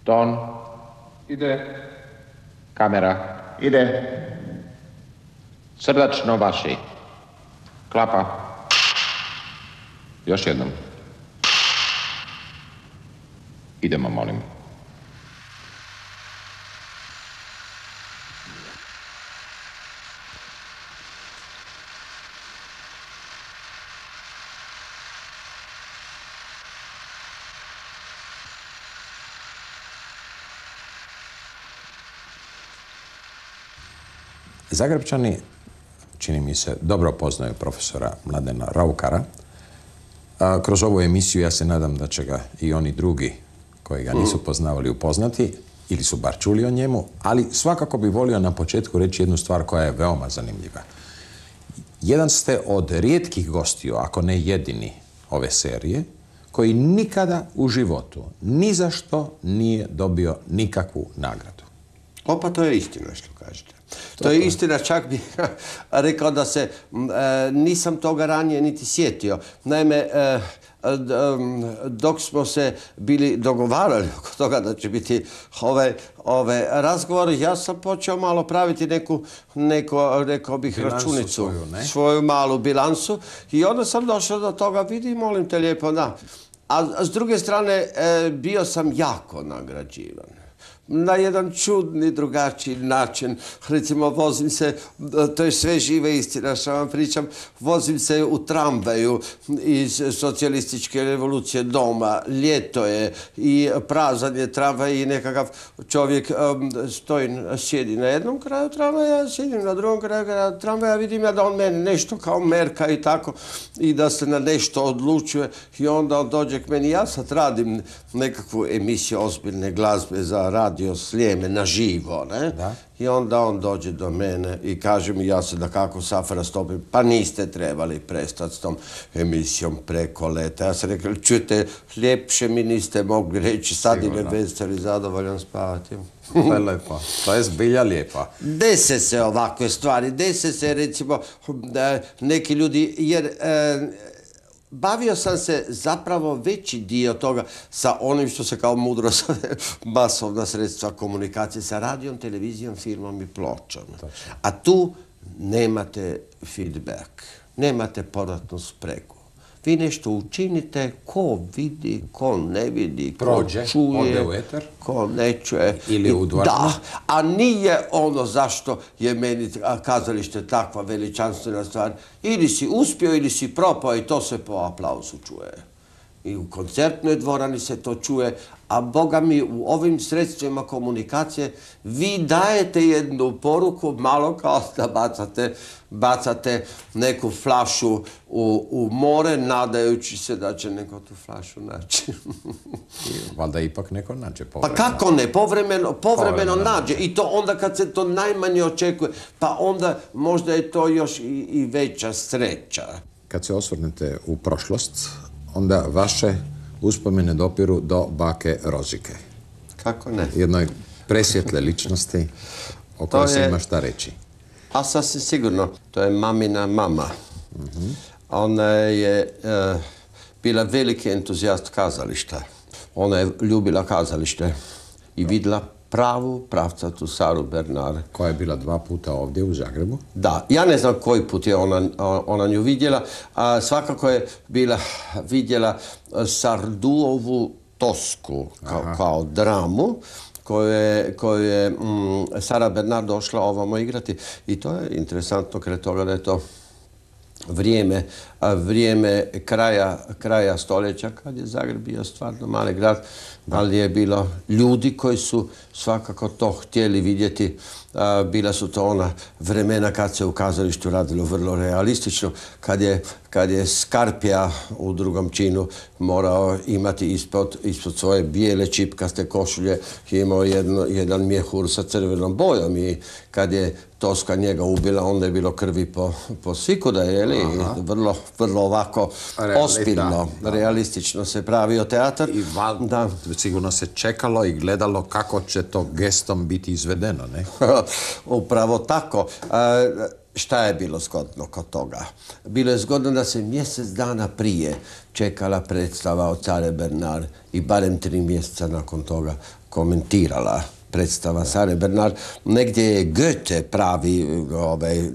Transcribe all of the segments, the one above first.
Ton. Ide. Kamera. Ide. Srdačno vaši. Klapa. Još jednom. Idemo, molim. Zagrebčani, čini mi se, dobro poznaju profesora Mladena Raukara. Kroz ovu emisiju ja se nadam da će ga i oni drugi koji ga nisu poznavali upoznati ili su bar čuli o njemu, ali svakako bi volio na početku reći jednu stvar koja je veoma zanimljiva. Jedan ste od rijetkih gostiju, ako ne jedini ove serije, koji nikada u životu ni za što nije dobio nikakvu nagradu. Pa to je istina što kažete. To je istina, čak bih rekao da se nisam toga ranije niti sjetio. Naime, dok smo se bili dogovarali oko toga da će biti ove razgovori, ja sam počeo malo praviti rekao bih, računicu, svoju malu bilansu i onda sam došao do toga, vidi, molim te lijepo, da. A s druge strane, bio sam jako nagrađivan. Na jedan čudni, drugačiji način. Recimo, vozim se, to je sve žive istina što vam pričam, vozim se u tramvaju iz socijalističke revolucije doma, ljeto je i prazan je tramvaj i nekakav čovjek sjedi na jednom kraju tramvaja, sjedim na drugom kraju tramvaja, vidim ja da on meni nešto kao merka i tako i da se na nešto odlučuje i onda on dođe k meni. Ja sad radim nekakvu emisiju ozbiljne glazbe za radio Sljeme na živo, ne? Da. I onda on dođe do mene i kaže mi, ja se da kako safra stopim, pa niste trebali prestati s tom emisijom preko leta. Ja sam rekao, čujte, ljepše mi niste mogli reći, sad i me veseli, zadovoljan spavati. To je lepo, to je zbilja lijepa. Dese se ovakve stvari, dese se recimo neki ljudi, jer bavio sam se zapravo veći dio toga sa onim što se kao mudro zove masovna sredstva komunikacije, sa radijom, televizijom, filmom i pločom. A tu nemate feedback, nemate povratnu spregu. Vi nešto učinite, ko vidi, ko ne vidi, ko čuje, ode u eter, ko ne čuje. Ili u dvoranu. Da, a nije ono zašto je meni kazalište takva veličanstvena stvar. Ili si uspio ili si propao i to se po aplauzu čuje. I u koncertnoj dvorani se to čuje, a Boga mi u ovim sredstvima komunikacije vi dajete jednu poruku malo kao da bacate neku flašu u more nadajući se da će neko tu flašu naći. Valjda ipak neko nađe povremeno. Pa kako ne? Povremeno nađe. I to onda kad se to najmanje očekuje. Pa onda možda je to još i veća sreća. Kad se osvrnete u prošlost, onda vaše uspomene dopiru do bake Rozike. Kako ne? Jednoj presvjetle ličnosti o kojoj se ima šta reći. A sasvim sigurno, to je mamina mama. Ona je bila veliki entuzijast kazališta. Ona je ljubila kazalište i vidjela pravu pravcatu Saru Bernard. Koja je bila 2 puta ovdje u Zagrebu? Da, ja ne znam koji put je ona nju vidjela, a svakako je vidjela Sarduovu Tosku kao dramu koju je Sara Bernard došla ovamo igrati. I to je interesantno kraj toga da je to vrijeme kraja stoljeća, kad je Zagreb bio stvarno mali grad, ali je bilo ljudi koji su svakako to htjeli vidjeti. Bila su to ona vremena kad se u kazalištu radilo vrlo realistično, kad je Skarpija u drugom činu morao imati ispod svoje bijele čipkaste košulje, imao jedan mjehur sa crvenom bojom i kad je Toska njega ubila, onda je bilo krvi po svikuda, vrlo ovako ozbiljno, realistično se pravio teatar. I sigurno se čekalo i gledalo kako će to gestom biti izvedeno, ne? Upravo tako. šta je bilo zgodno kod toga? Bilo je zgodno da se mjesec dana prije čekala predstava o Care Bernard i barem 3 mjeseca nakon toga komentirala predstava Care Bernard. Negdje je Goethe, pravi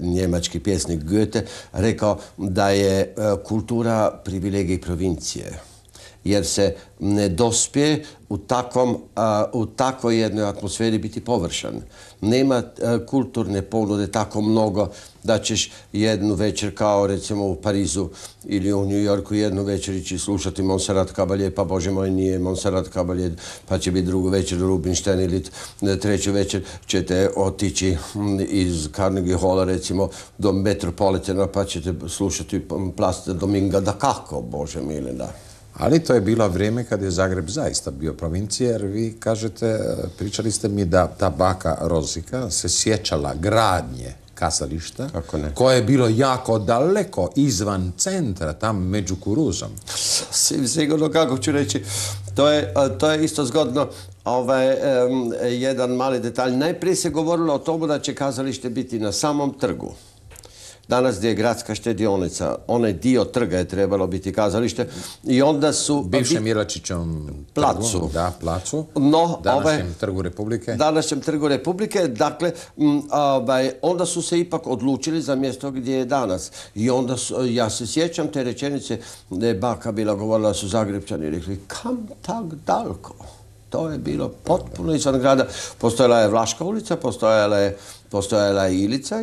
njemački pjesnik Goethe, rekao da je kultura privilegij provincije. Jer se ne dospije u takvoj jednoj atmosferi biti površan. Nema kulturne ponude tako mnogo da ćeš jednu večer, kao recimo u Parizu ili u New Yorku, jednu večer ići slušati Montserrat Caballé, pa Bože moj nije Montserrat Caballé, pa će biti drugu večer Rubinstein ili treću večer ćete otići iz Carnegie Halla recimo do Metropolitana pa ćete slušati Place Dominga da kako, Bože mili, da. Ali to je bilo vrijeme kad je Zagreb zaista bio provincija, jer vi kažete, pričali ste mi da ta baka Rozika se sjećala gradnje kazališta, koje je bilo jako daleko izvan centra, tam među Kuruzom. Sigurno, kako ću reći, to je isto zgodno. Jedan mali detalj. Najprije se govorilo o tomu da će kazalište biti na samom trgu. Danas gdje je gradska štedionica, onaj dio trga je trebalo biti kazalište i onda su... Bivšem Jelačićevom placu. Da, placu. Današnjem trgu Republike. Današnjem trgu Republike. Dakle, onda su se ipak odlučili za mjesto gdje je danas. I onda, ja se sjećam te rečenice da je baka bila govorila da su Zagrebčani rekli kam tak daleko. To je bilo potpuno izvan grada. Postojala je Vlaška ulica, postojala je Ilica,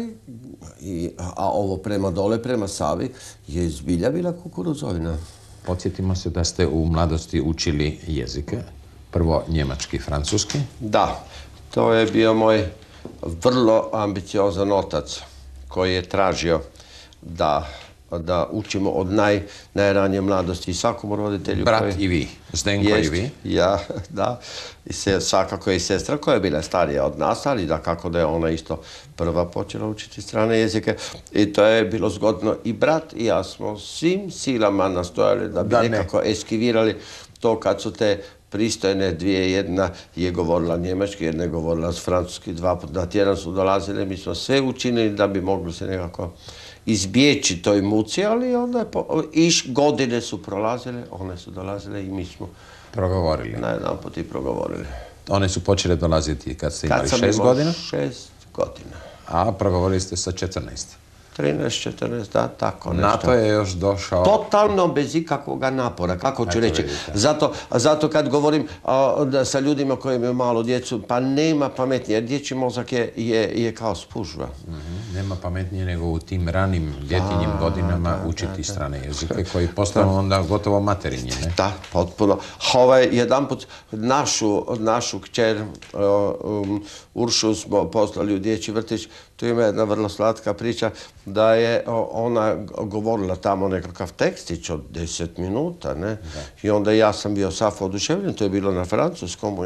a ovo prema dole, prema Savi, je zbilja bila kukuruzovina. Podsjetimo se da ste u mladosti učili jezike. Prvo njemački i francuski. Da, to je bio moj vrlo ambiciozan otac koji je tražio da učimo od najranije mladosti i svakom roditelju. Brat i vi, Zdenko i vi. Ja, da. I svakako i sestra koja je bila starija od nas, ali da kako da je ona isto prva počela učiti strane jezike. I to je bilo zgodno. I brat i ja smo svim silama nastojali da bi nekako eskivirali to kad su te pristojne dvije, jedna je govorila njemački, jedna je govorila francuski, 2 puta na tjedan su dolazile. Mi smo sve učinili da bi mogli se nekako izbjeći toj muci, ali onda godine su prolazile, one su dolazile i mi smo progovorili. Na jedan put i progovorili. One su počele dolaziti kad ste imali 6 godina? 6 godina. A progovorili ste sa 14? 13, 14, da, tako nešto. Na to je još došao... Totalno bez ikakvog napora, kako ću reći. Zato kad govorim sa ljudima koji imaju malu djecu, pa nema pametnije, jer dječji mozak je kao spužva. Nema pametnije nego u tim ranim djetinjim godinama učiti strane jezike koji postanu onda gotovo materinje, ne? Da, potpuno. Jedanput našu kćer Uršu smo poslali u dječji vrtić. Tu ima jedna vrlo slatka priča da je ona govorila tamo nekakav tekstić od 10 minuta, ne? I onda ja sam bio safo oduševljen, to je bilo na francuskom,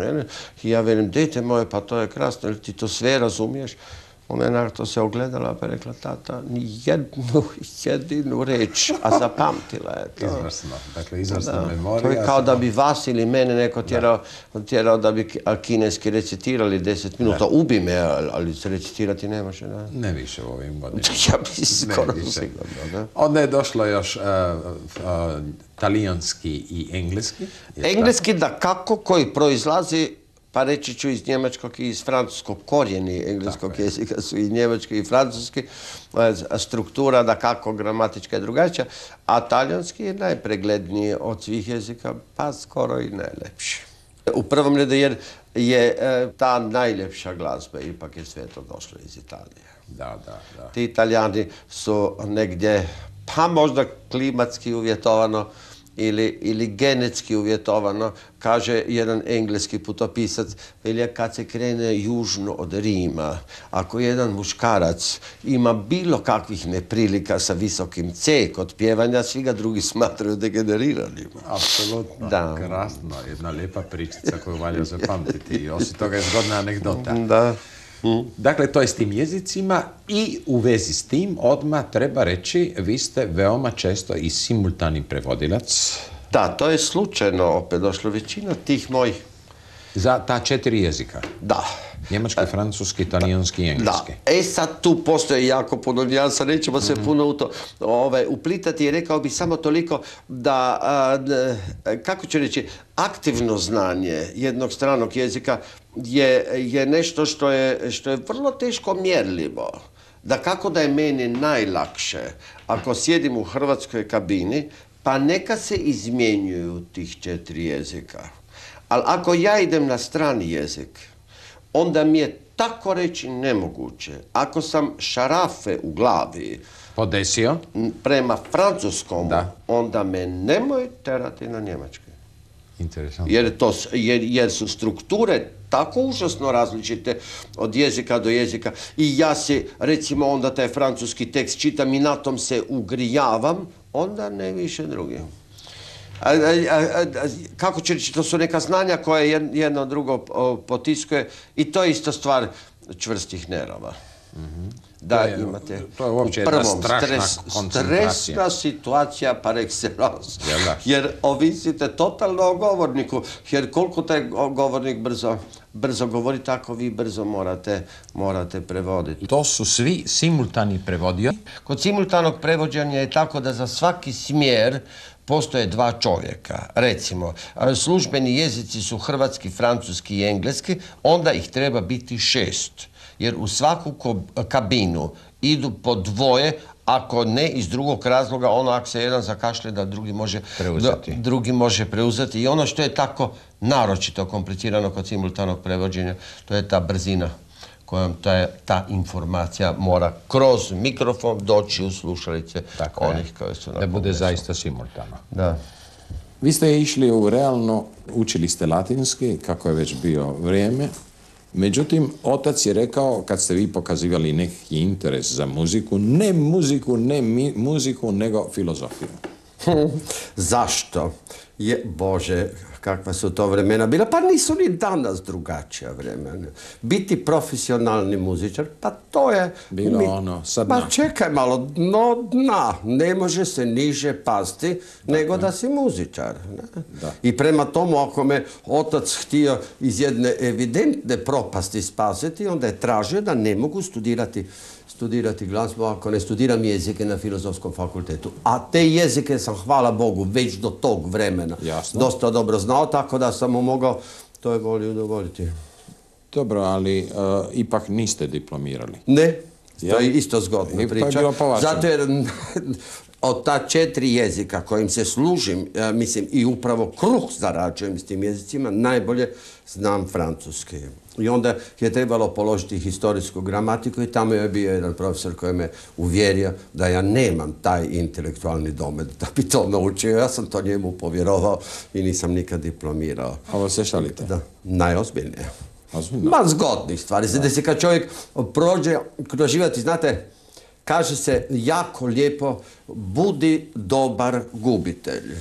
i ja velim, dete moje, pa to je krasno, ili ti to sve razumiješ? Ona je na to se ogledala pa rekla, tata, ni jedinu reč, a zapamtila je to. Izvrsno, dakle izvrsna memorija. To je kao da bi vas ili mene neko tjerao da bi kineski recitirali 10 minuta. Ubi me, ali se recitirati ne može. Ne više u ovim godinama. Ja bi skoro sigurno. Onda je došlo još talijanski i engleski. Engleski da kako koji proizlazi, pa reći ću iz njemačkog i iz francuskog, korijeni engleskog jezika su i njemački i francuski, struktura da kako gramatička je drugačija, a talijanski je najpregledniji od svih jezika, pa skoro i najlepši. U prvom redu jer je ta najljepša glazba, ipak je sve to došlo iz Italije. Da. Ti Italijani su negdje, pa možda klimatski uvjetovano, ili genetski uvjetovano, kaže jedan engleski putopisac, kad se krene južno od Rima, ako jedan muškarac ima bilo kakvih neprilika sa visokim C kod pjevanja, svi ga drugi smatraju degeneriranima. Apsolutno, krasno, jedna lijepa pričica koju valja zapamtiti i osim toga je zgodna anegdota. Da. Dakle, to je s tim jezicima i u vezi s tim odmah treba reći, vi ste veoma često i simultani prevodilac. Da, to je slučajno opet došlo većina tih mojih. Za ta 4 jezika? Da. Njemački, francuski, talijanski i engleski. Da. Sad tu postoje jako puno nijansa, nećemo se puno u to uplitati i rekao bih samo toliko da, kako ću reći, aktivno znanje jednog stranog jezika je nešto što je vrlo teško mjerljivo. Da kako da je meni najlakše ako sjedim u hrvatskoj kabini, pa neka se izmjenjuju tih 4 jezika. Ali ako ja idem na strani jezik, onda mi je tako reći nemoguće. Ako sam šarafe u glavi podesio prema francuskom, onda me nemoj terati na njemački. Interesantno. Jer su strukture tako užasno različite od jezika do jezika i ja si, recimo, onda taj francuski tekst čitam i na tom se ugrijavam, onda ne više drugi. Kako će reći, to su neka znanja koje jedno drugo potiskuje i to je isto stvar čvrstih nerava. Da imate u prvom stresna situacija par excellence. Jer ovisite totalno o govorniku. Jer koliko taj govornik brzo govori, tako vi brzo morate prevoditi. To su svi simultani prevodioci? Kod simultanog prevođenja je tako da za svaki smjer postoje 2 čovjeka. Recimo, službeni jezici su hrvatski, francuski i engleski, onda ih treba biti 6. Jer u svaku kabinu idu po 2, ako ne iz drugog razloga, ono ako se jedan zakašlje da drugi može preuzeti. I ono što je tako naročito komplicirano kod simultanog prevođenja, to je ta brzina kojom ta informacija mora kroz mikrofon doći u slušalice onih koji su na da bude zaista simultano. Da. Vi ste išli u realno, učili ste latinski, kako je već bio vrijeme. Međutim, otac je rekao, kad ste vi pokazivali neki interes za muziku, ne muziku, nego filozofiju. Zašto? Bože, kakva su to vremena bila, pa nisu ni danas drugačija vremena. Biti profesionalni muzičar, pa to je... Bilo ono, sad pa čekaj malo, dna, ne može se niže pasti nego da si muzičar. I prema tomu, ako me otac htio iz jedne evidentne propasti spasiti, onda je tražio da ne mogu studirati glazbu ako ne studiram jezike na Filozofskom fakultetu. A te jezike sam, hvala Bogu, već do tog vremena dosta dobro znao, tako da sam mu mogao to je volio udovoljiti. Dobro, ali ipak niste diplomirali. Ne, to je isto zgodna priča. Zato jer od ta 4 jezika kojim se služim, mislim, i upravo kruh zarađujem s tim jezicima, najbolje znam francuski. I onda je trebalo položiti historijsku gramatiku i tamo je bio jedan profesor koji me uvjerio da ja nemam taj intelektualni domet da bi to naučio. Ja sam to njemu povjerovao i nisam nikad diplomirao. Ovo se šalite? Da, najozbiljnije. Ozbiljno? Ma zgodnih stvari. Da se kad čovjek prođe kroz život, znate, kaže se jako lijepo, budi dobar gubitelj.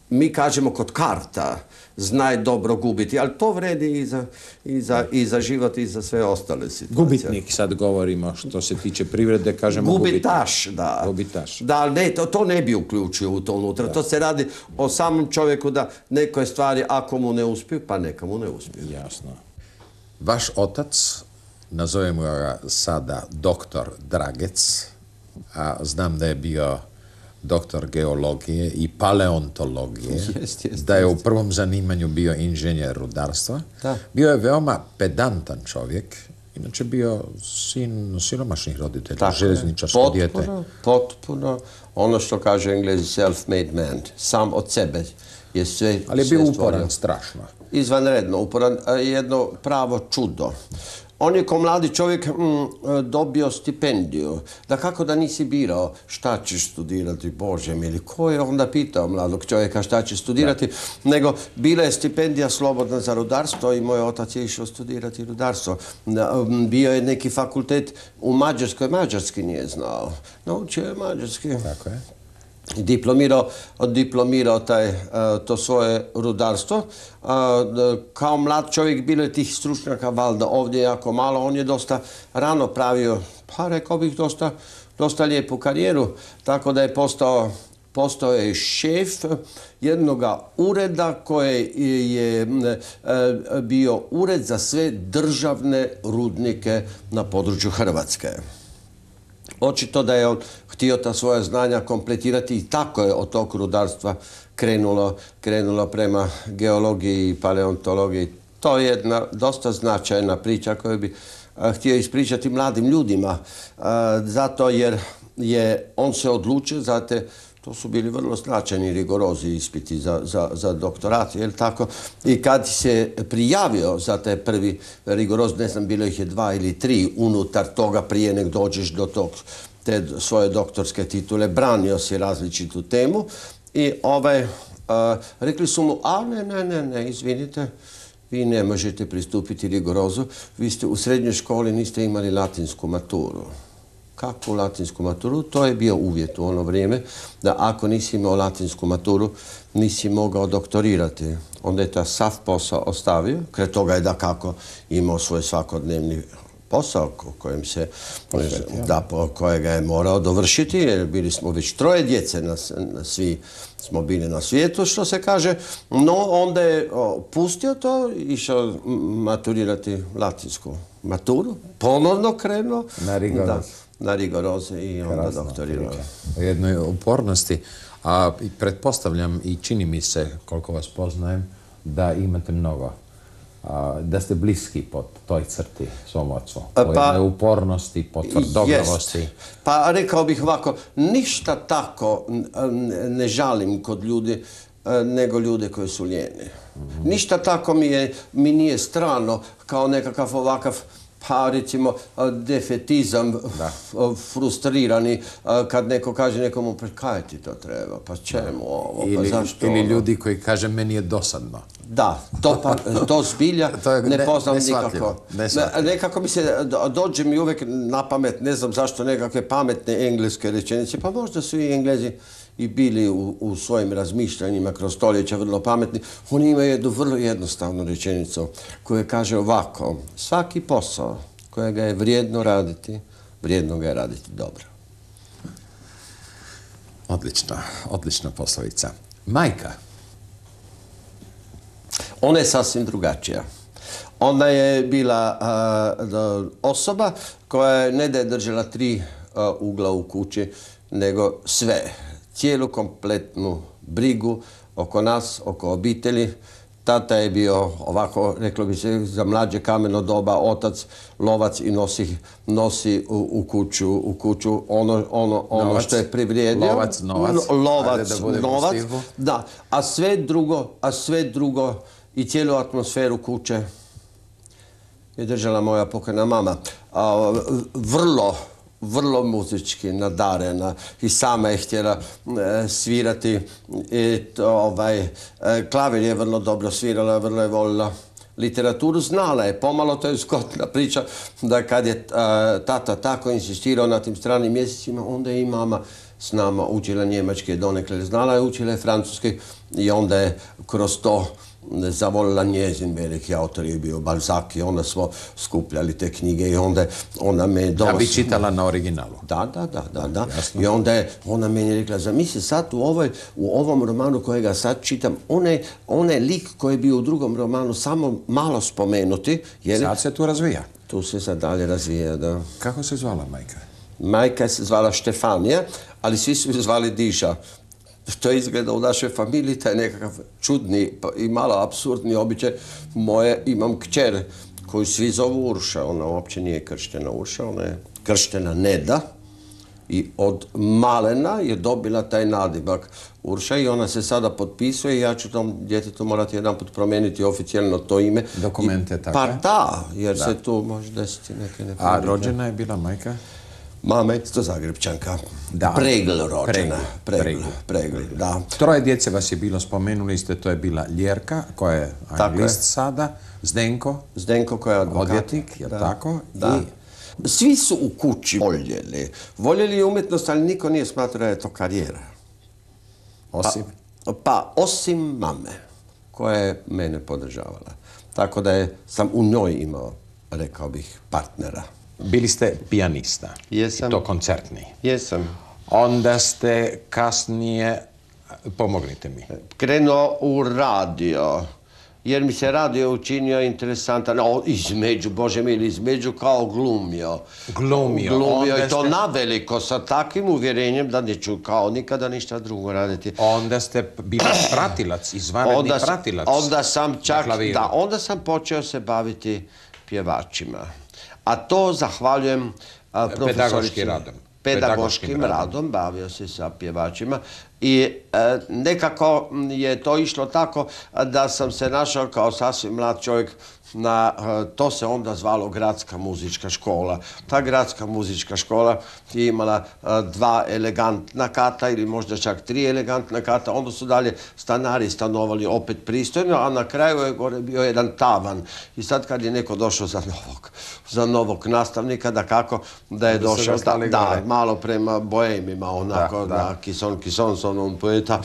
Mi kažemo kod karta, znaj dobro gubiti, ali to vredi i za život i za sve ostale situacije. Gubitnik sad govorimo, što se tiče privrede, kažemo gubitaš. Da. Gubitaš. Da, ne, to ne bi uključio u to unutra. Da. To se radi o samom čovjeku da nekoj stvari, ako mu ne uspiju, pa neka mu ne uspiju. Jasno. Vaš otac, nazovemo ga sada doktor Dragec, a znam da je bio doktor geologije i paleontologije, da je u prvom zanimanju bio inženjer rudarstva. Bio je veoma pedantan čovjek, inače bio sin siromašnih roditelja, željezničarsko dijete. Potpuno, ono što kaže Englezi self-made man, sam od sebe je sve stvorio. Ali je bio uporan strašno. Izvanredno uporan, jedno pravo čudo. On je kao mladi čovjek dobio stipendiju. Da kako da nisi birao šta ćeš studirati, Bože mili, ko je onda pitao mladog čovjeka šta će studirati, nego bila je stipendija slobodna za rudarstvo i moj otac je išao studirati rudarstvo. Bio je neki fakultet u Mađarskoj, mađarski nije znao. Naučio je mađarski. Tako je. Diplomirao to svoje rudarstvo. Kao mlad čovjek bilo je tih stručnjaka valjda ovdje jako malo. On je dosta rano pravio, pa rekao bih dosta lijepu karijeru. Tako da je postao postao je šef jednog ureda koje je bio ured za sve državne rudnike na području Hrvatske. Očito da je on htio ta svoja znanja kompletirati i tako je od tog rudarstva krenulo prema geologiji i paleontologiji. To je jedna dosta značajna priča koju bi htio ispričati mladim ljudima, zato jer je on se odlučio, to su bili vrlo značajni rigorozi ispiti za doktorat, jel tako? I kad se prijavio za taj prvi rigoroz, ne znam, bilo ih je 2 ili 3 unutar toga prije nek dođeš do te svoje doktorske titule, branio si različitu temu i rekli su mu, ne, izvinite, vi ne možete pristupiti rigorozu, vi ste u srednjoj školi, niste imali latinsku maturu. Kakvu latinsku maturu? To je bio uvjet u ono vrijeme, da ako nisi imao latinsku maturu, nisi mogao doktorirati. Onda je ta sav posao ostavio, kraj toga je dakako imao svoj svakodnevni posao kojega je morao dovršiti, jer bili smo već 3 djece, svi smo bili na svijetu, što se kaže, no onda je pustio to, išao maturirati latinsku maturu, ponovno krenuo na rigoroze i onda doktorirao. O jednoj upornosti, a pretpostavljam i čini mi se, koliko vas poznajem, da imate mnogo, da ste bliski po toj crti svom ocu, po jednoj upornosti, po tvrdoglavosti. Pa rekao bih ovako, ništa tako ne žalim kod ljudi nego ljude koji su lijeni. Ništa tako mi nije strano kao nekakav ovakav, pa recimo defetizam, frustrirani, kad neko kaže nekomu, pa kaj ti to treba, pa čemu ovo, pa zašto ovo? Ili ljudi koji kaže, meni je dosadno. Da, to zbilja ne poznam nikako. Nekako mi se, dođe mi uvijek na pamet, ne znam zašto, nekakve pametne engleske rečenice, pa možda su i Englezi i bili u svojim razmišljanjima kroz stoljeća vrlo pametni. Oni imaju jednu vrlo jednostavnu rečenicu koja kaže ovako: svaki posao kojega je vrijedno raditi, vrijedno ga je raditi dobro. Odlična poslovica. Majka? Ona je sasvim drugačija. Ona je bila osoba koja ne da je držala 3 ugla u kući, nego sve. Cijelu kompletnu brigu oko nas, oko obitelji. Tata je bio ovako, reklo bi se, za mlađe kameno doba otac, lovac i nosi u kuću ono što je privrijedio. Lovac, da. A sve drugo i cijelu atmosferu kuće je držala moja pokojna mama. Vrlo muzički nadarena i sama je htjela svirati. Klavir je vrlo dobro svirala, vrlo je volila literaturu, znala je pomalo, to je zgodna priča, da kad je tata tako insistirao na tim stranim mjesecima, onda je i mama s nama učila njemački, donekle znala je, učila je francuski i onda je kroz to zavolila njezin veliki autor je bio Balzac i onda smo skupljali te knjige i onda ona me je Da bi čitala na originalu. Da. I onda je ona meni rekla, zamisli sad u ovom romanu kojega sad čitam, onaj lik koji je bio u drugom romanu samo malo spomenuti. Sad se tu razvija. Tu se sad dalje razvija, da. Kako se zvala majka? Majka se zvala Štefanija, ali svi su je zvali Diža. To izgleda u našoj familiji, taj nekakav čudni i malo apsurdni običaj. Imam kćer koju svi zovu Urša. Ona uopće nije krštena Urša, ona je krštena Neda. I od malena je dobila taj nadimak Urša i ona se sada potpisuje i ja ću tom djetetu morati jedanput promijeniti oficijalno to ime. Dokumente tako? Pa da, jer se tu može desiti neke neprilike. A rođena je bila majka? Mama je isto Zagrebčanka. Pregl rođena. Pregl, da. 3 djece vas je bilo, spomenuli ste, to je bila Ljerka, koja je anglist sada, Zdenko koja je odvjetnik, je tako? Da. Svi su u kući voljeli umjetnost, ali niko nije smatrao da je to karijera. Osim? Osim mame, koja je mene podržavala. Tako da sam u njoj imao, rekao bih, partnera. Bili ste pijanista. Jesam. I to koncertni. Jesam. Onda ste kasnije, pomognite mi. Krenuo u radio, jer mi se radio učinio interesantan, Bože mili, između kao glumio. Glumio i to naveliko, sa takvim uvjerenjem da neću kao nikada ništa drugo raditi. Onda ste bili pratilac, izvanredni pratilac. Onda sam počeo se baviti pjevačima. A to zahvaljujem pedagoškim radom. Pedagoškim radom, bavio se sa pjevačima i nekako je to išlo tako da sam se našao kao sasvim mlad čovjek to se onda zvalo Gradska muzička škola. Ta Gradska muzička škola je imala 2 elegantna kata ili možda čak 3 elegantna kata. Onda su dalje stanari stanovali opet pristojno, a na kraju je gore bio jedan tavan. I sad kad je neko došao za novog nastavnika, da je došao malo prema boemima, onako da kison s onom poeta.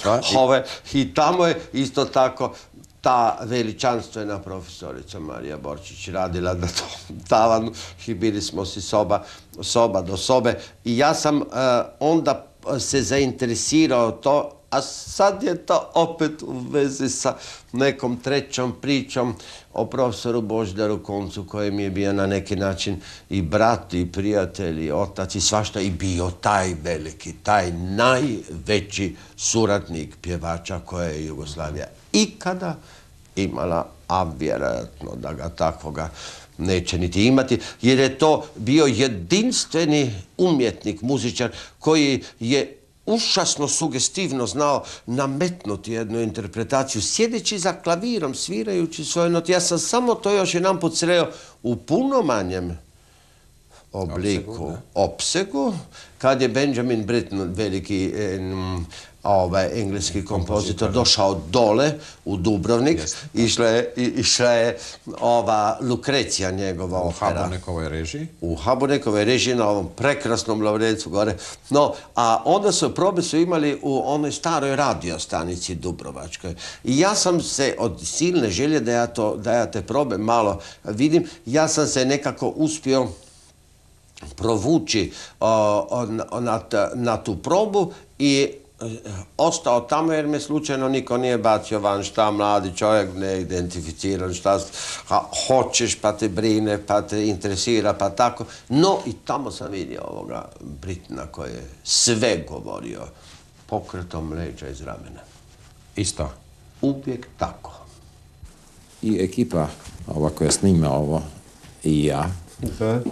I tamo je isto tako ta veličanstvena profesorica Marija Borčić radila na tom tavanu i bili smo si soba do sobe. I ja sam onda se zainteresirao to, a sad je to opet u vezi sa nekom trećom pričom o profesoru Božidaru Koncu, koji mi je bio na neki način i brat, i prijatelj, i otac, i svašta, i bio taj veliki, taj najveći suradnik pjevača koje je Jugoslavija ikada imala, a vjerojatno da ga takvoga neće niti imati, jer je to bio jedinstveni umjetnik, muzičar, koji je užasno sugestivno znao nametnuti jednu interpretaciju, sjedeći za klavirom, svirajući svoje note. Ja sam samo to još jedanput sreo u puno manjem obliku, opsegu, kad je Benjamin Britten, veliki engleski kompozitor, došao dole u Dubrovnik. Išla je ova Lukrecija, njegova opera. U Habonekovoj režiji? U Habonekovoj režiji, na ovom prekrasnom Lovrencu gore. No, a onda probe su imali u onoj staroj radiostanici Dubrovačkoj. I ja sam se, od silne želje da ja te probe malo vidim, ja sam se nekako uspio provući na tu probu i ostao tamo jer me slučajno niko nije bacio van, šta mladi čovjek neidentificiran, šta hoćeš pa te brine, pa te interesira, pa tako. No i tamo sam vidio ovoga Brittena koji je sve govorio pokretom leđa iz ramena. Isto? Uvijek tako. I ekipa ova koja snima ovo i ja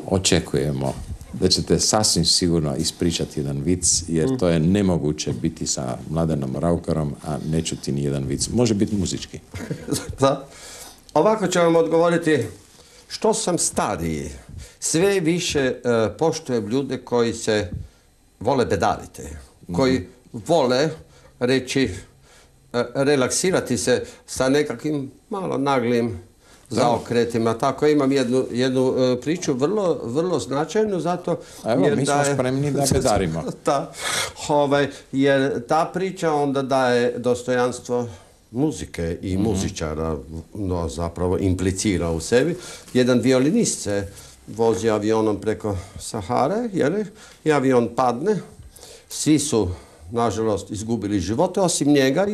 očekujemo da ćete sasvim sigurno ispričati jedan vic, jer to je nemoguće biti sa Mladenom Raukarom, a ne čuti ni jedan vic. Može biti muzički. Da. Ovako ću vam odgovoriti, što sam stariji, sve više poštujem ljude koji se vole bedaviti, koji vole reći, relaksirati se sa nekakvim malo naglim zaokretima. Tako imam jednu priču vrlo značajnu, zato evo, mi smo spremni da bedarimo. Jer ta priča onda daje dostojanstvo muzike i muzičara, no zapravo implicira u sebi. Jedan violinist se vozi avionom preko Sahare, i avion padne, svi su nažalost izgubili živote, osim njega,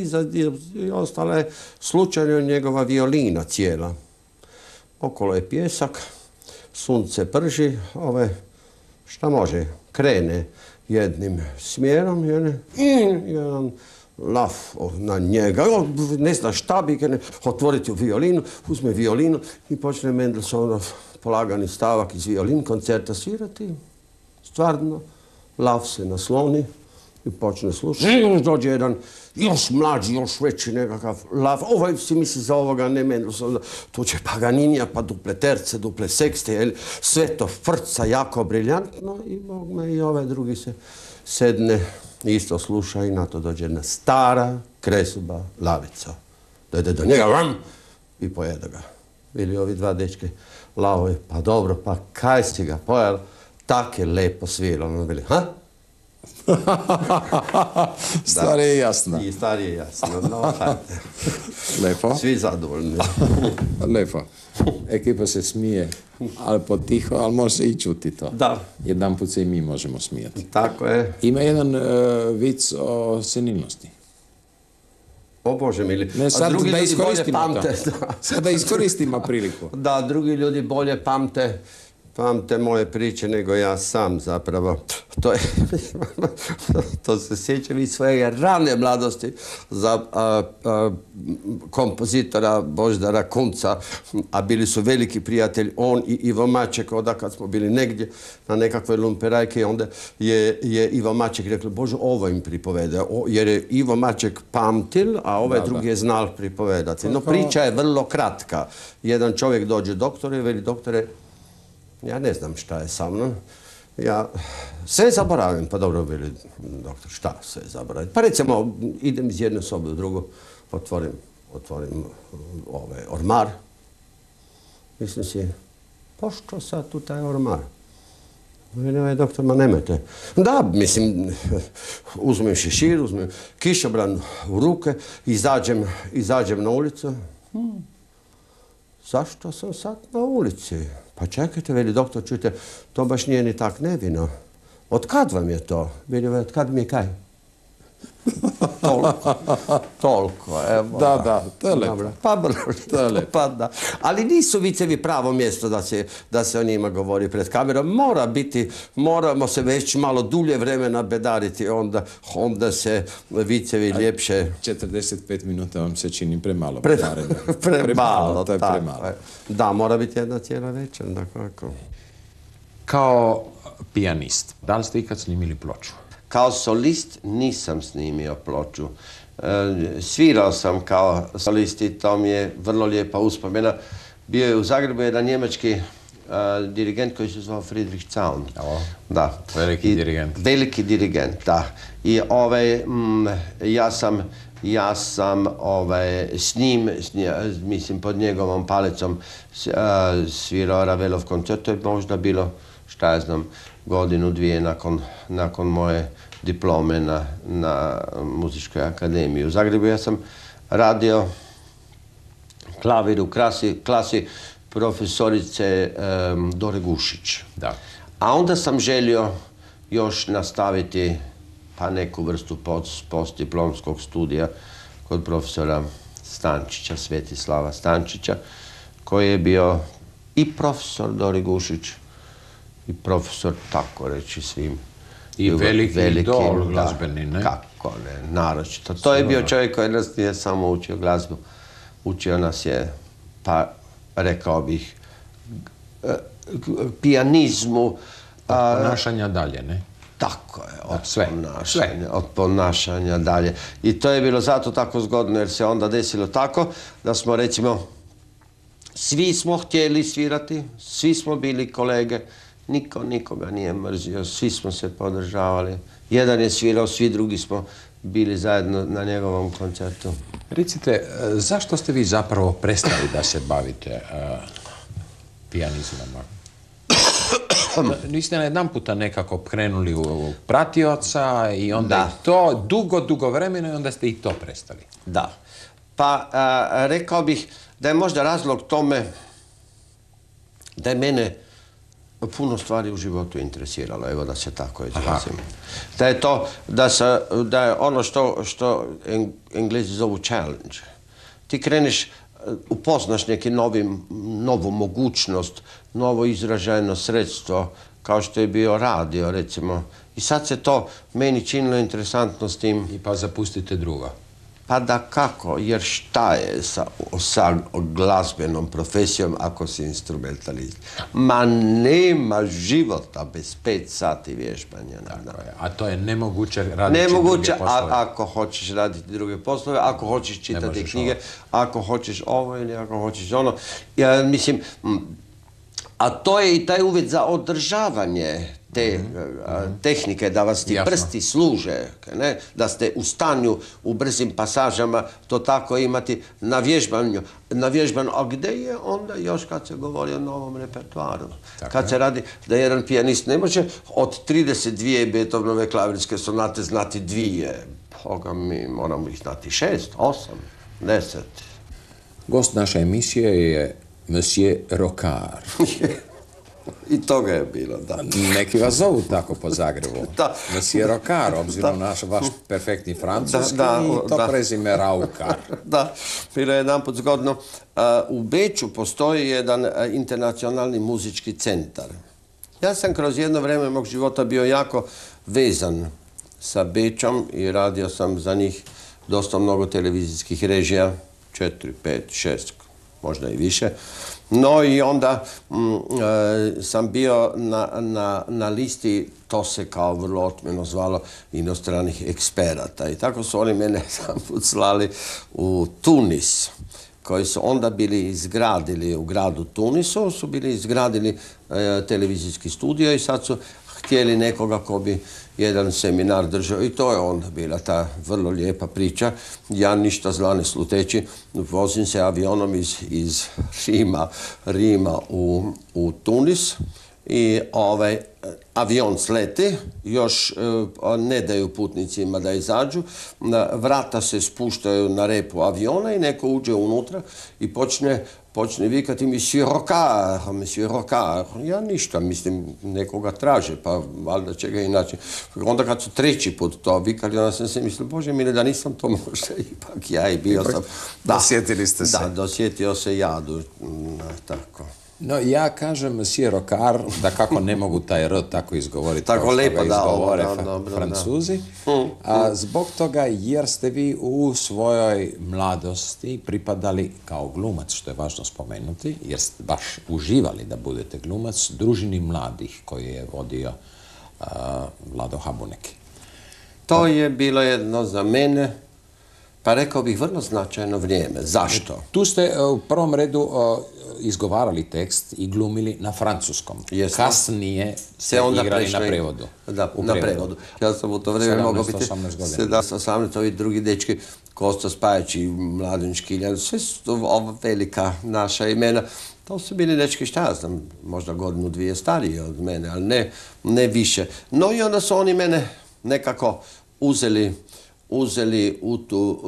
i ostala je slučajno njegova violina cijela. Okolo je pjesak, sunce prži, šta može, krene jednim smjerom, jedan lav na njega, ne zna šta bi, otvoriti violinu, uzme violinu i počne Mendelssohnov polagani stavak iz violin koncerta svirati. Stvarno, lav se nasloni i počne slušati. Dođe jedan još mlađi, još veći nekakav lav. Ovaj si misli za ovoga, ne Mendelssohna. Tu će Paganinija, pa duple terce, duple sekste, sve to frca jako briljantno i Bog me i ovaj drugi se sedne, isto sluša i na to dođe jedna stara kresuba lavica. Dojde do njega, vam, i pojede ga. Bili ovi dva dečke lavovi, pa dobro, pa kaj si ga pojel? Tak je lepo svirao. Bili, ha? Stvar je jasna. I stvar je jasna. No, hajde. Lepo. Svi zadovoljni. Lepo. Ekipa se smije, ali potiho, ali može se i čuti to. Da. Jedan put se i mi možemo smijati. Tako je. Ima jedan vic o senilnosti. O Bože mili. Ne, sad drugi da ljudi bolje iskoristimo pamte. to. Sad da iskoristimo priliku. Da, drugi ljudi bolje pamte moje priče nego ja sam zapravo. To se sjećam iz svoje rane mladosti za kompozitora Božidara Kunca, a bili su veliki prijatelj, on i Ivo Maček, onda kad smo bili negdje na nekakvoj lumperajke, onda je Ivo Maček rekao, Bože, ovo im pripovede, jer je Ivo Maček pamtil, a ovaj drugi je znal pripovedati. No, priča je vrlo kratka. Jedan čovjek dođe doktoru i veli, doktore, ja ne znam šta je sa mnom. Ja sve zaboravim. Pa dobro, veli doktor, šta sve zaboravim? Pa recimo, idem iz jedne sobe u drugu, otvorim ormar. Mislim si, pošto sad tu taj ormar? Veli doktor, ma nemojte. Da, mislim, uzmem šešir, uzmem kišobran u ruke, izađem na ulicu. Zašto sam sad na ulici? Pa čekajte, veli doktor, čujte, to baš nije ni tak nevino. Od kad vam je to? Veli, od kad mi je kaj? Toliko, evo. Da, to je lepo. Pa da. Ali nisu vicevi pravo mjesto da se o njima govori pred kamerom. Moramo se već malo dulje vremena bedariti, onda se vicevi ljepše... 45 minuta vam se čini premalo. Premalo, to je premalo. Da, mora biti jedna cijela večer, da kako. Kao pijanist, da li ste ikad snimili ploču? Kao solist nisam snimio ploču. Svirao sam kao solist i to mi je vrlo lijepa uspomena. Bio je u Zagrebu jedan njemački dirigent koji se zvao Friedrich Zaun. Da. Veliki dirigent. Veliki dirigent, da. I ja sam s njim, mislim pod njegovom palicom svirao Ravelov koncert. To je možda bilo, šta ja znam, godinu, dvije nakon moje diplome na Muzičkoj akademiji u Zagrebu. Ja sam radio klavir u klasi profesorice Dore Gušić. Da. A onda sam želio još nastaviti pa neku vrstu postdiplomskog studija kod profesora Stančića, Svetislava Stančića, koji je bio i profesor Dore Gušić i profesor, tako reći, svim. I veliki idol glazbeni, ne? Kako ne, naročito. To je bio čovjek koji nas nije samo učio glazbu. Učio nas je, pa rekao bih, pijanizmu. Od ponašanja dalje, ne? Tako je, od ponašanja dalje. I to je bilo zato tako zgodno jer se onda desilo tako da smo, recimo, svi smo htjeli svirati, svi smo bili kolege, niko nikoga nije mrzio, svi smo se podržavali. Jedan je svirao, svi drugi smo bili zajedno na njegovom koncertu. Recite, zašto ste vi zapravo prestali da se bavite pijanizmom? Niste na jedan puta nekako krenuli u pratioca i onda je to dugo vremena i onda ste i to prestali. Da. Pa rekao bih da je možda razlog tome da je mene puno stvari u životu interesiralo, evo da se tako izrazim. Da je to, da je ono što Englezi zovu challenge. Ti kreneš, upoznaš neki novu mogućnost, novo izražajno sredstvo, kao što je bio radio, recimo. I sad se to meni činilo interesantno s tim. I pa zapustite drugo. Pa da kako, jer šta je sa glazbenom profesijom ako si instrumentalist? Ma nema života bez 5 sati vježbanja. A to je nemoguće raditi druge poslove. Nemoguće, ako hoćeš raditi druge poslove, ako hoćeš čitati knjige, ako hoćeš ovo ili ako hoćeš ono. Ja mislim, a to je i taj uvjet za održavanje te tehnike, da vas ti prsti služe, da ste u stanju u brzim pasažama to tako imati na vježbanju. A gdje je onda još kad se govori o novom repertoaru? Kad se radi da jedan pijanist ne može od 32 Beethovenove klavirske sonate znati 2. Boga mi, moramo ih znati 6, 8, 10. Gost naše emisije je Monsieur Rocard. I toga je bilo, da. Neki vas zovu tako po Zagrebu. Monsieur Rocard, obzirom na vaš perfektni francuski i to prezime Raukar. Da, bilo je jedanput zgodno. U Beču postoji jedan internacionalni muzički centar. Ja sam kroz jedno vrijeme mog života bio jako vezan sa Bečom i radio sam za njih dosta mnogo televizijskih režija, 4, 5, 6, možda i više. No i onda sam bio na listi, to se kao vrlo otmjeno zvalo, inostranih eksperata. I tako su oni mene jedanput slali u Tunis, koji su onda bili izgradili u gradu Tunisu, su bili izgradili televizijski studio i sad su htjeli nekoga ko bi jedan seminar držao i to je onda bila ta vrlo lijepa priča. Ja ništa zla ne sluteći, vozim se avionom iz Rima u Tunis i avion sleti, još ne daju putnicima da izađu, vrata se spuštaju na repu aviona i neko uđe unutra i počne vikati Monsieur Rocard. Ja ništa, mislim, nekoga traže, pa valjda će ga inače. Onda kad su treći put to vikali, onda sam se mislio, Bože mile, da nisam to možda ipak ja i bio sam. Dosjetili ste se. Da, dosjetio se jadu, tako. No, ja kažem Monsieur Rocard, da kako ne mogu taj R tako izgovoriti, tako lepo da izgovore Francuzi, zbog toga jer ste vi u svojoj mladosti pripadali kao glumac, što je važno spomenuti, jer ste baš uživali da budete glumac, družini mladih koji je vodio Vlado Habuneki. To je bilo jedno za mene, pa rekao bih vrlo značajno vrijeme. Zašto? Tu ste u prvom redu izgovarali tekst i glumili na francuskom. Kasnije ste igrali na prevodu. Da, na prevodu. Ja sam u to vrijeme mogao biti 17-18, ovi drugi dečki, Kosta Spajić i Mladen Škiljan, sve su ova velika naša imena. To su bili dečki, šta ja znam, možda godinu, dvije stariji od mene, ali ne više. No i onda su oni mene nekako uzeli u tu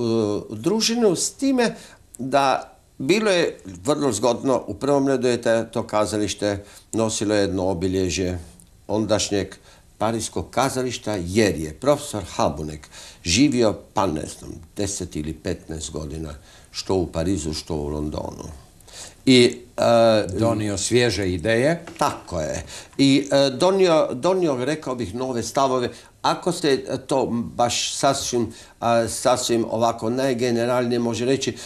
družinu s time da bilo je vrlo zgodno, u prvom redu je to kazalište nosilo jedno obilježje ondašnjeg parijskog kazališta jer je profesor Habunek živio, pa ne znam, 10 ili 15 godina, što u Parizu, što u Londonu. I donio svježe ideje. Tako je. I donio, rekao bih, nove stavove. Ako se to baš sasvim ovako najgeneralnije može reći,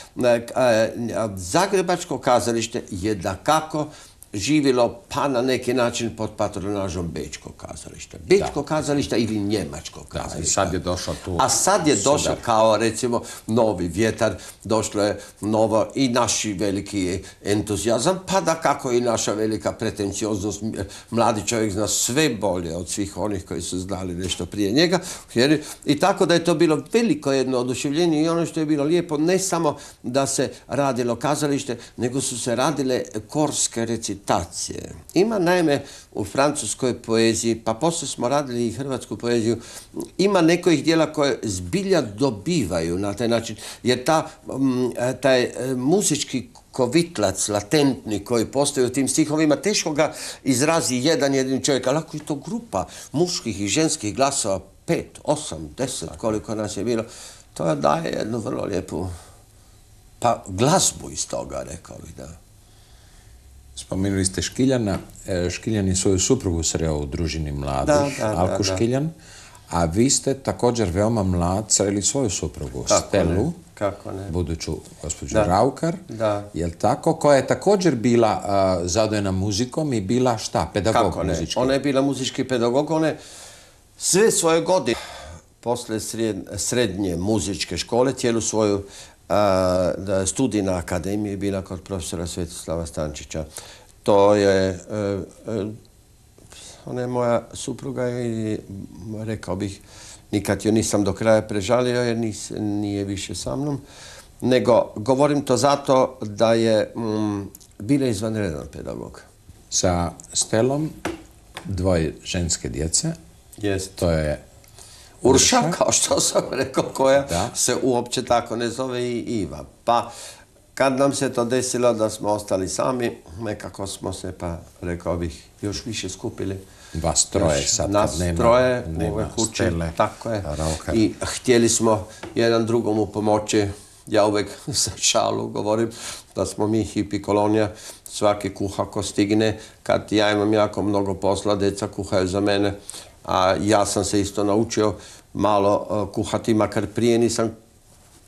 Zagrebačko kazalište je dakako živjelo pa na neki način pod patronažom Bečkog kazališta. Bečko kazališta ili Njemačkog kazališta. I sad je došao tu. A sad je došao kao recimo novi vjetar, došlo je novo i naši veliki entuzijazam, pa da kako i naša velika pretencioznost. Mladi čovjek zna sve bolje od svih onih koji su znali nešto prije njega. I tako da je to bilo veliko jedno oduševljenje i ono što je bilo lijepo, ne samo da se radilo kazalište, nego su se radile korske recitacije. Ima naime u francuskoj poeziji, pa poslije smo radili i hrvatsku poeziju, ima nekojih dijela koje zbilja dobivaju na taj način, jer taj muzički kovitlac, latentni koji postoji u tim stihovima, teško ga izrazi jedan jedini čovjek, ali ako je to grupa muških i ženskih glasova, 5, 8, 10, koliko nas je bilo, to daje jednu vrlo lijepu glazbu iz toga, rekao bih, da. Spomenuli ste Škiljana. Škiljan je svoju suprugu sreo u družini mladih, Alku Škiljan, a vi ste također veoma mlad sreli svoju suprugu, Stelu, buduću gospođu Raukar, jel tako, koja je također bila zadojena muzikom i bila šta, pedagog muzički? Ona je bila muzički pedagog, ona je sve svoje godine posle srednje muzičke škole, cijelu svoju studij na akademiji je bila kod profesora Svetislava Stančića. To je ona je moja supruga i rekao bih, nikad joj nisam do kraja prežalio jer nije više sa mnom, nego govorim to zato da je bila izvanredan pedagog. Sa Stelom, dvoje ženske djece, to je Urša, kao što sam rekao, koja se uopće tako ne zove i Iva. Pa kad nam se to desilo da smo ostali sami, nekako smo se, pa rekao bih, još više skupili. Vas troje sad kad nema Stele, tako je. I htjeli smo jedan drugomu pomoći. Ja uvek sa šalu govorim da smo mi hipi kolonija, svaki kuha ko stigne. Kad ja imam jako mnogo posla, deca kuhaju za mene, a ja sam se isto naučio malo kuhati, makar prije nisam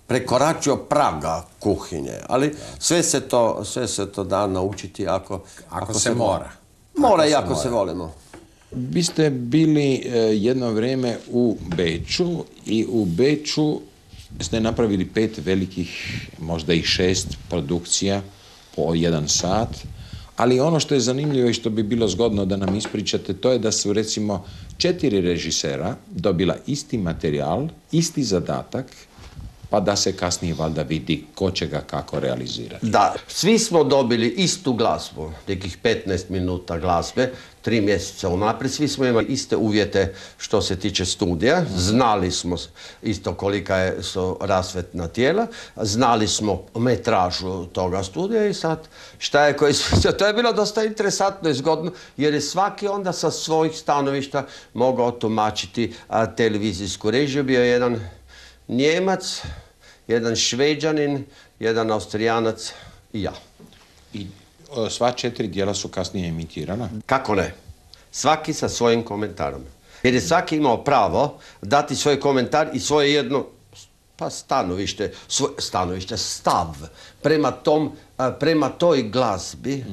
prekoračio praga kuhinje, ali sve se to da naučiti ako se mora. Mora i ako se volimo. Vi ste bili jedno vrijeme u Beču i u Beču ste napravili 5 velikih, možda i 6 produkcija po 1 sat, ali ono što je zanimljivo i što bi bilo zgodno da nam ispričate, to je da su recimo 4 režisera dobila isti materijal, isti zadatak, pa da se kasnije valjda vidi ko će ga kako realizirati. Da, svi smo dobili istu glazbu, nekih 15 minuta glazbe, 3 mjeseca unaprijed, svi smo imali iste uvjete što se tiče studija, znali smo isto kolika su rasvetna tijela, znali smo metražu toga studija i sad šta je koji sve, to je bilo dosta interesantno i zgodno, jer je svaki onda sa svojih stanovišta mogao tumačiti televizijsku režiju. Bio je jedan Njemac, jedan Šveđanin, jedan Austrijanac i ja. I sva 4 dijela su kasnije emitirana? Kako ne? Svaki sa svojim komentarom. Jer je svaki imao pravo dati svoj komentar i svoje jedno stav prema toj glazbi,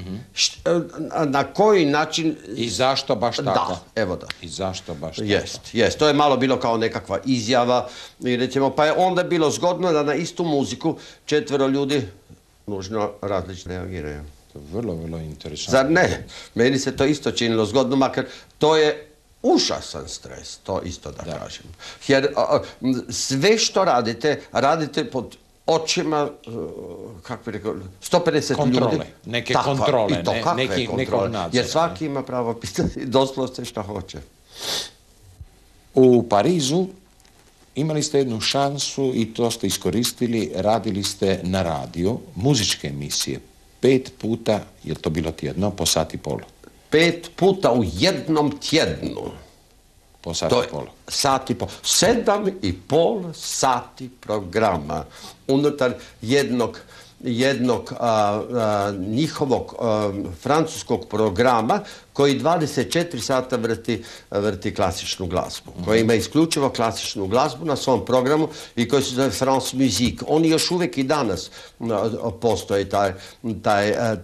na koji način... I zašto baš tako? Da, evo da. I zašto baš tako? Jest. To je malo bilo kao nekakva izjava i recimo, pa je onda bilo zgodno da na istu muziku 4 ljudi nužno različno reagiraju. To je vrlo, vrlo interesantno. Zar ne? Meni se to isto činilo zgodno, makar to je užasan stres, to isto da kažem. Jer sve što radite pod očima, kako bi rekao, 150 ljudi. Neke kontrole, nekog nadzora. Jer svaki ima pravo pitati doslovce što hoće. U Parizu imali ste jednu šansu i to ste iskoristili, radili ste na radiju, muzičke emisije. 5 puta, je to bilo tjedno, po 1,5 sata? 5 puta u jednom tjednu. Po 1,5 sata? 7,5 sati programa unutar jednog njihovog francuskog programa koji 24 sata vrti klasičnu glazbu, koji ima isključivo klasičnu glazbu na svom programu i koji se zove France Musique. Oni još uvijek i danas postoji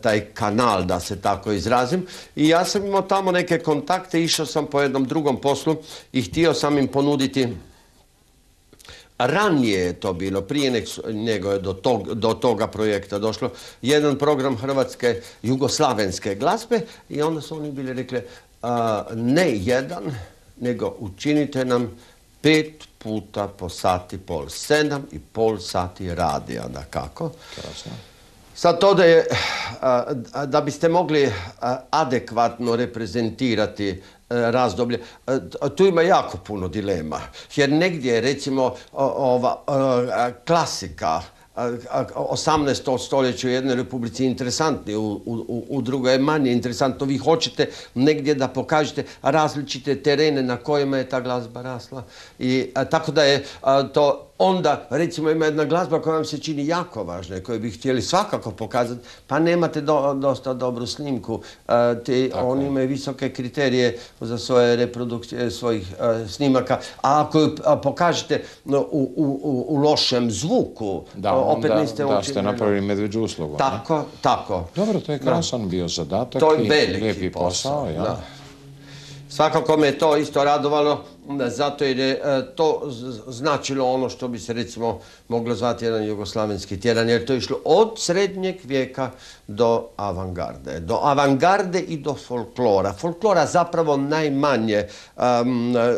taj kanal, da se tako izrazim. I ja sam imao tamo neke kontakte, išao sam po jednom drugom poslu i htio sam im ponuditi. Ranije je to bilo, prije nego je do toga projekta došlo, jedan program hrvatske jugoslavenske glazbe i onda su oni bili rekli ne jedan, nego učinite nam 5 puta po 1,5 sata, 7,5 sati radija, da kako. Krasno. Sad to da biste mogli adekvatno reprezentirati razdoblje, tu ima jako puno dilema, jer negdje recimo ova klasika 18. stoljeća u jednoj republici interesantni, u drugoj je manje interesantno. Vi hoćete negdje da pokažete različite terene na kojima je ta glazba rasla. I tako da je to onda, recimo, ima jedna glazba koja vam se čini jako važna i koju bi htjeli svakako pokazati, pa nemate dosta dobru snimku. Oni imaju visoke kriterije za svoje reprodukcije, svojih snimaka, a ako ju pokažete u lošem zvuku, opet niste učinili. Da ste napravili medveđu uslugu. Tako. Dobro, to je krasan bio zadatak. To je veliki posao. Svakako me to isto radovalo. zato jer je to značilo ono što bi se recimo moglo zvati jedan jugoslavenski tjedan, jer to je išlo od srednjeg vijeka do avangarde. Do avangarde i do folklora. Folklora zapravo najmanje,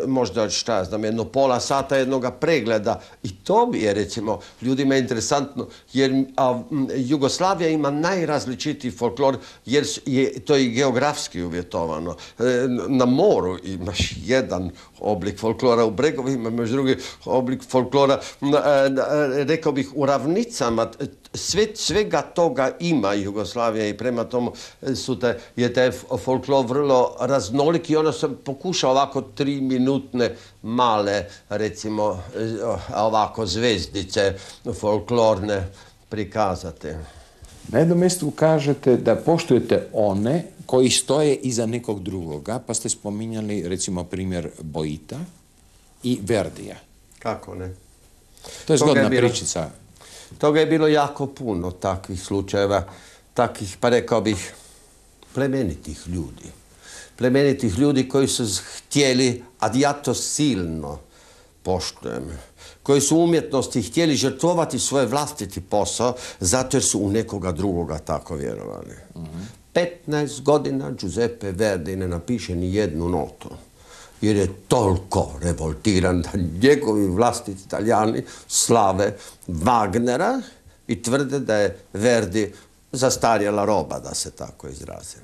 možda šta ja znam, jedno pola sata jednoga pregleda. I to mi je recimo ljudima interesantno, jer Jugoslavija ima najrazličitiji folklor, jer je to i geografski uvjetovano. Na moru imaš jedan oblik folklora, u bregovima imaš drugi oblik folklora, rekao bih u ravnicama, svega toga ima Jugoslavija i prema tomu je taj folklor vrlo raznolik i ono se pokuša ovako 3-minutne male, recimo, ovako zvezdice folklorne prikazati. Na jednom mjestu kažete da poštujete one koji stoje iza nekog drugoga, pa ste spominjali recimo primjer Boita i Verdija. Kako ne? To je zgodna pričica. Toga je bilo jako puno takvih slučajeva, takvih, pa rekao bih, plemenitih ljudi. Plemenitih ljudi koji su htjeli, a ja to silno poštujem, koji su u umjetnosti htjeli žrtvovati svoj vlastiti posao zato jer su u nekoga drugoga tako vjerovali. 15 godina Giuseppe Verdi ne napiše ni jednu notu, jer je toliko revoltiran da njegovi vlastiti Italijani slave Wagnera i tvrde da je Verdi zastarjela roba, da se tako izrazim.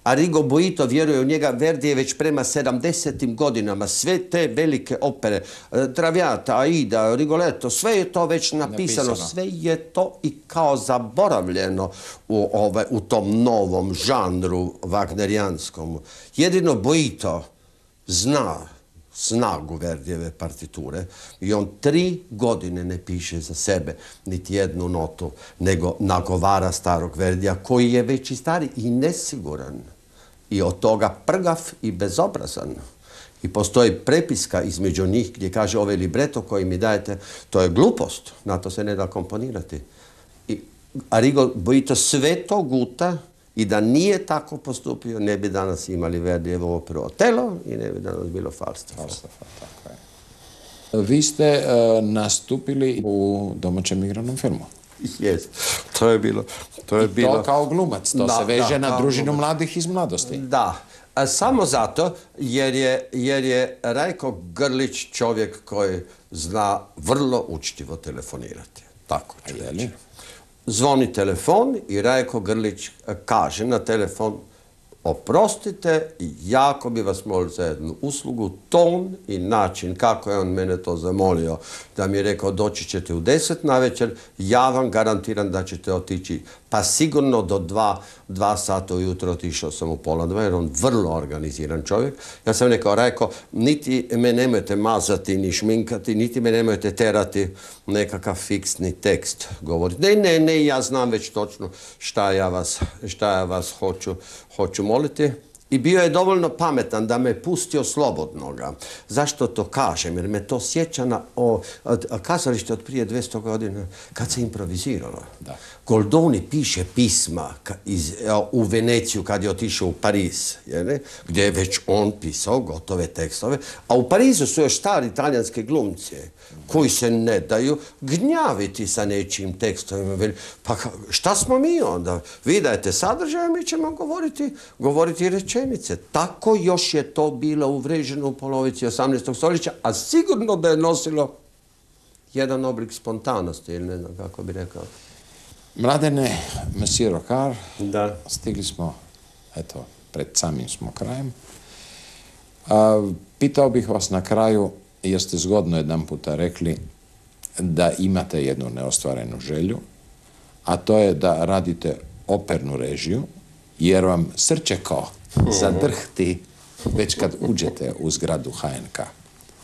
Arrigo Boito vjeruje u njega. Verdi je već prema 70. godinama sve te velike opere, Traviata, Aida, Rigoletto, sve je to već napisano, sve je to i kao zaboravljeno u tom novom žanru wagnerijanskom. Jedino Boito zna snagu Verdijeve partiture i on 3 godine ne piše za sebe niti jednu notu, nego nagovara starog Verdija koji je već i stari i nesiguran i od toga prgav i bezobrazan. I postoji prepiska između njih gdje kaže ovaj libreto koji mi dajete, to je glupost, na to se ne da komponirati. I Arrigo Boito sve to guta i da nije tako postupio, ne bi danas imali Verdijevu operu Otelo i ne bi danas bilo Falstafa. Tako je. Vi ste nastupili u domaćem igranom filmu. Jest, to je bilo. I to kao glumac, to se veže na družinu mladih iz mladosti. Da, samo zato jer je Rajko Grlić čovjek koji zna vrlo učtivo telefonirati. Tako ću reći. Zvoni telefon i Rajko Grlić kaže na telefon: oprostite, jako bi vas molio za jednu uslugu, ton i način kako je on mene to zamolio, da mi je rekao doći ćete u 10 navečer, ja vam garantiram da ćete otići, pa sigurno do 2 sata ujutro. Otišao sam u 1:30 jer on vrlo organiziran čovjek. Ja sam rekao: Rajko, niti me nemojte mazati ni šminkati, niti me nemojte terati nekakav fiksni tekst govoriti. Ne, ja znam već točno šta ja vas hoću moliti. I bio je dovoljno pametan da me pustio slobodnoga. Zašto to kažem? Jer me to sjeća na kazalište od prije 200 godina kad se improviziralo. Goldoni piše pisma u Veneciju kad je otišao u Pariz, gdje je već on pisao gotove tekstove, a u Parizu su još stari italijanske glumci koji se ne daju gnjaviti sa nečijim tekstovima. Pa šta smo mi onda? Vi dajete sadržaj, mi ćemo govoriti rečenice. Tako još je to bilo uvreženo u polovici 18. stoljeća, a sigurno da je nosilo jedan oblik spontanosti, ili ne znam kako bi rekao. Mladene, Monsieur Rocard, stigli smo, eto, pred samim smo krajem. Pitao bih vas na kraju, jer ste zgodno jedan puta rekli da imate jednu neostvarenu želju, a to je da radite opernu režiju, jer vam srčeko zadrhti već kad uđete u zgradu HNK.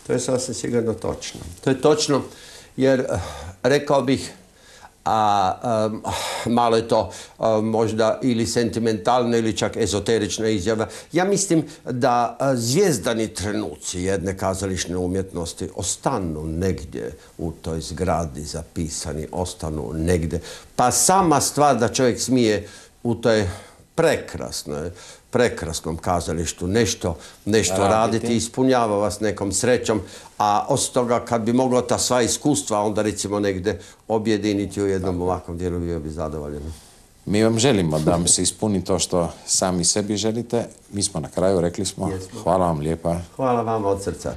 To je sasvim sigurno točno. To je točno jer, rekao bih, malo je to možda ili sentimentalna ili čak ezoterična izjava. Ja mislim da zvijezdani trenuci jedne kazališne umjetnosti ostanu negdje u toj zgradi zapisani, ostanu negdje. Pa sama stvar da čovjek smije u toj prekrasnom kazalištu, nešto raditi, ispunjava vas nekom srećom, a osim toga kad bi moglo ta sva iskustva onda recimo negdje objediniti u jednom ovakvom dijelu, bio bi zadovoljen. Mi vam želimo da vam se ispuni to što sami sebi želite. Mi smo na kraju, rekli smo, hvala vam lijepa. Hvala vam od srca.